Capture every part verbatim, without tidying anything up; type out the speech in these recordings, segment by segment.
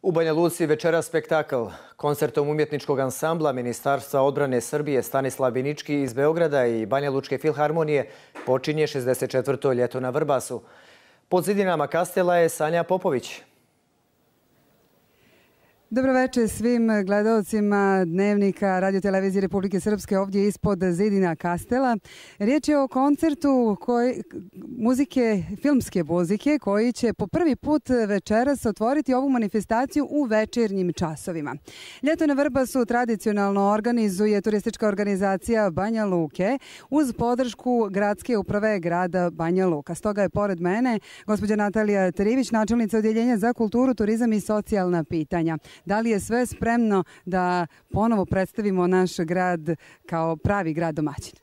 U Banja Luci večeras spektakl. Koncertom umjetničkog ansambla Ministarstva odbrane Srbije Stanislav Binički iz Beograda i Banja Lučke filharmonije počinje šezdeset četvrto ljeto na Vrbasu. Pod zidinama Kastela je Sanja Popović. Dobroveče svim gledalcima Dnevnika Radio-televizije Republike Srpske ovdje ispod zidina Kastela. Riječ je o koncertu koji, muzike, filmske muzike koji će po prvi put večeras otvoriti ovu manifestaciju u večernjim časovima. Ljeto na Vrbasu tradicionalno organizuje turistička organizacija Banja Luke uz podršku gradske uprave grada Banja Luka. Stoga je pored mene gospođa Natalija Trivić, načelnica Odjeljenja za kulturu, turizam i socijalna pitanja. Da li je sve spremno da ponovo predstavimo naš grad kao pravi grad domaćin?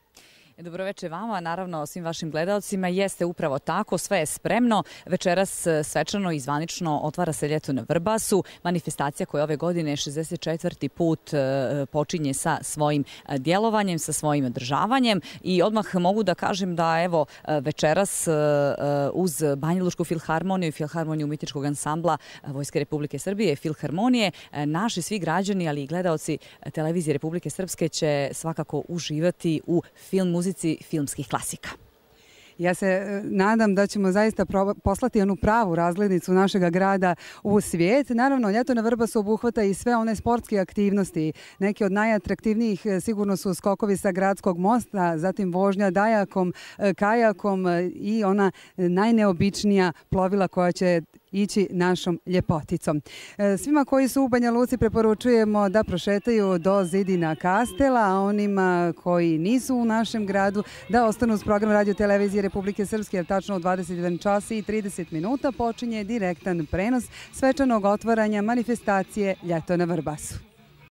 Dobroveče vama, naravno svim vašim gledalcima. Jeste upravo tako, sve je spremno. Večeras svečano i zvanično otvara se ljeto na Vrbasu. Manifestacija koja ove godine šezdeset četvrti put počinje sa svojim djelovanjem, sa svojim održavanjem. I odmah mogu da kažem da evo večeras uz Banja Lučku filharmoniju i filharmoniju umjetničkog ansambla Vojske Republike Srbije, filharmonije, naši svi građani, ali i gledalci televizije Republike Srpske će svakako uživati u film muzici filmskih klasika. Ja se nadam da ćemo zaista poslati onu pravu razglednicu našega grada u svijet. Naravno, ljeto na Vrbasu obuhvata i sve one sportske aktivnosti. Neki od najatraktivnijih sigurno su skokovi sa gradskog mosta, zatim vožnja dajakom, kajakom i ona najneobičnija plovila koja će ići našom ljepoticom. Svima koji su u Banja Luci preporučujemo da prošetaju do zidina Kastela, a onima koji nisu u našem gradu da ostanu uz program Radio-televizije Republike Srpske, jer tačno u dvadeset jedan čas i trideset minuta počinje direktan prenos svečanog otvaranja manifestacije Ljeto na Vrbasu.